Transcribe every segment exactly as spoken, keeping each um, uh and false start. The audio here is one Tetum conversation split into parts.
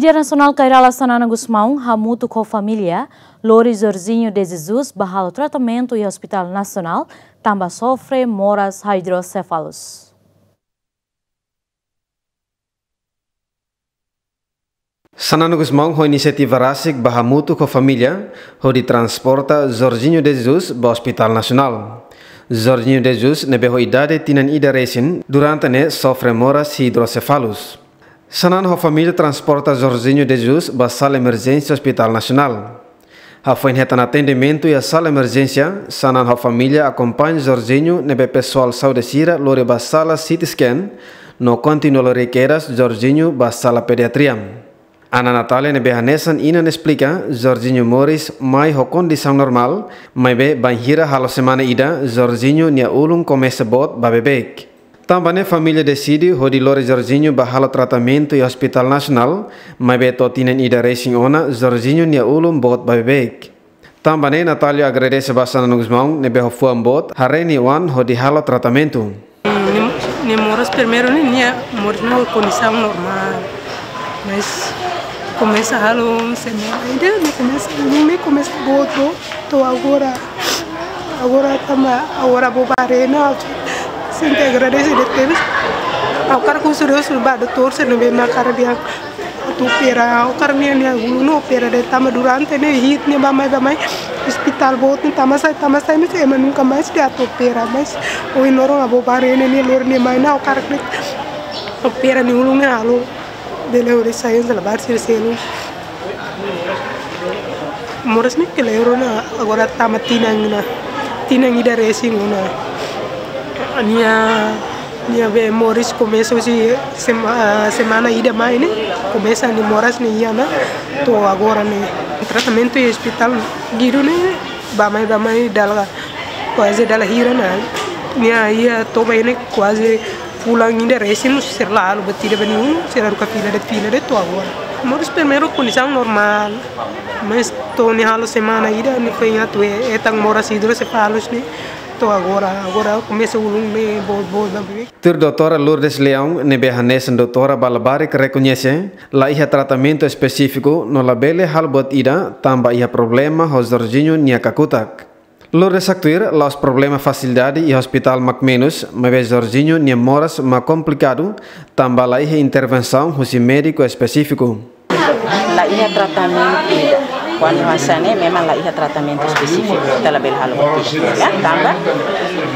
Líder Nasionál Kay Rala Xanana Gusmão hamutuk ho família lori Jorginho de Jesus ba halo tratamentu iha Hospital Nasionál tanba sofre moras hidrosefalus. Xanana Gusmão ho inisiativa rasik ba hamutuk ho família hodi transporta Jorginho de Jesus ba Hospital Nasionál. Jorginho de Jesus ne'ebé ho idade tinan ida resin durante ne'e sofre moras hidrosefalus. Xanana ho família transporta Jorginho de Jesus ba sala emerjénsia Hospital Nasionál. Hafoin hetan atendimentu iha sala emerjénsia, Xanana ho família akompaña Jorginho ne'ebé pesoál saúde sira lori ba sala C T scan, no kontinua lori kedas Jorginho ba sala pediatria. Ana Natália ne'ebé hanesan inan esplika, Jorginho moris mai ho kondisaun normál, maibé bainhira halo semana ida, Jorginho nia ulun komesa boot ba beibeik. Tanba ne'e família deside hodi lori Jorginho ba halo tratamentu iha Hospital Nasionál, maibé to'o tinan ida resin ona, Jorginho nia ulun boot ba beibeik. Tanba ne'e Natália agradese ba Xanana Gusmão ne'ebé ho fuan boot, haree nia oan hodi halo tratamentu. Nia, nia moras primeiru ne'e, nia moras ne'e kondisaun normál. Mas komesa halo semana ida, nia komesa, nia komesa boot, boot, to'o agora. Agora tanba, agora Avó Barena, sente agradese de tebes. Ha'u hakarak husu Deus ba doutór sira ne'ebé mak hakarak dehan atu opera, ha'u hakarak nia, nia ulun opera de'it tanba durante ne'e hi'it nia bá mai, bá mai. Hospital boot ne'e tama sai, tama sai, mas ema nunka mais dehan atu opera, mas ohin loron Avó Barena nia lori nia mai ona, ha'u hakarak de'it opera nia ulun ne'e halo. Bele hodi sai hanesan labarik sira seluk. Moras ne'e kleur ona, agora tama tinan ona, tinan ida resin ona. Nia, nia be moras komesa husi sema-, semana ida mai ne'e, komesa nia moras ne'e iha ona, to'o agora ne'e. Tratamentu iha Hospital Guido ne'e, bá mai, bá mai dala, kuaze dala hira ona. Nia iha toba ne'e kuaze fulan ida resin, sira la halo buat ida ba nia ulun, sira haruka fila de'it, fila de'it to'o agora. Moras primeiru kondisaun normál, mas to'o nia halo semana ida, nia foin atu he-, hetan moras hidrosefalus ne'e, to'o agora, agora komesa ulun ne'e boot, boot ba beibeik. Tuir doutora Lourdes Leão, ne'ebé hanesan doutora ba labarik rekoñese, la iha tratamentu espesífiku, no labele halo buat ida, tanba iha problema ho Jorginho nia kakutak. Lourdes haktuir, la'ós problema fasilidade iha hospital mak menus, maibé Jorginho nia moras mak komplikadu, tanba la iha intervensaun husi médiku espesífiku. La iha tratamentu ida. Kuandu hanesan ne'e memang la iha tratamentu espesífiku, ita labele halo buat ida. Ya, tanba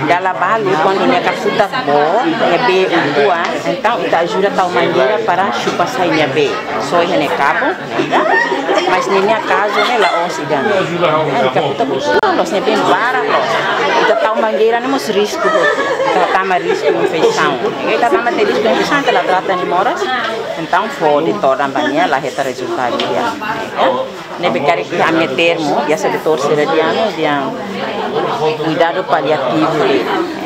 dala balu kuandu nia kakutak boot, nia bee uitoan, entaun ita ajuda tau mangeira para xupa sai nia bee. Só iha ne'e kaben, ya. Mas ninia kazu ne'e la'ós ida-ne'e. Nia kakutak uitoan, loos, nia bee barak loos. Ita tau mangeira ne'e mós risku. Ita tama risku infesaun. Ita tama tiha risku infesaun, ita la trata nia moras. Entaun fó doutór ba nia, la hetan rezultadu ida. Ne'ebé karik iha ami-nia termu, biasa doutór sira dehan, dehan kuidadu paliativu.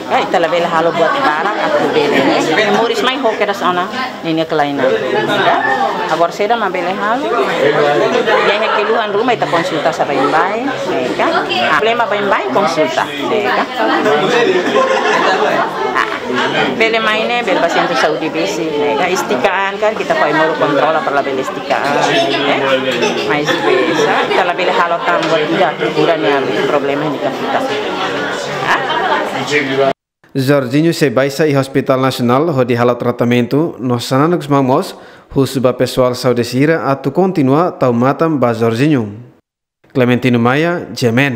Ka, ita labele halo buat barak atu bele. Moris mai ho kedas ona, ninia kelainan. Ka, agora saida mak bele halo. Iha keluhan ruma ita konsulta sa baibain. Ka, ah, problema baibain konsulta. Ka. Ah, bele mai ne'e, bele ba sentru saúde besik, ne'e ka, estikaan karik ita fó ai-moruk kontrola para labele estikaan, ne'e. Mas bele sa, ita labele halo tan buat ida, kura nia problema ne'e kakutak. Ah? Jorginho sei baixa iha Hospital Nasionál hodi halo tratamentu, no Xanana Gusmão mós husu ba pesoál saúde sira atu kontinua tau matan ba Jorginho. Clementino Maia, G M N.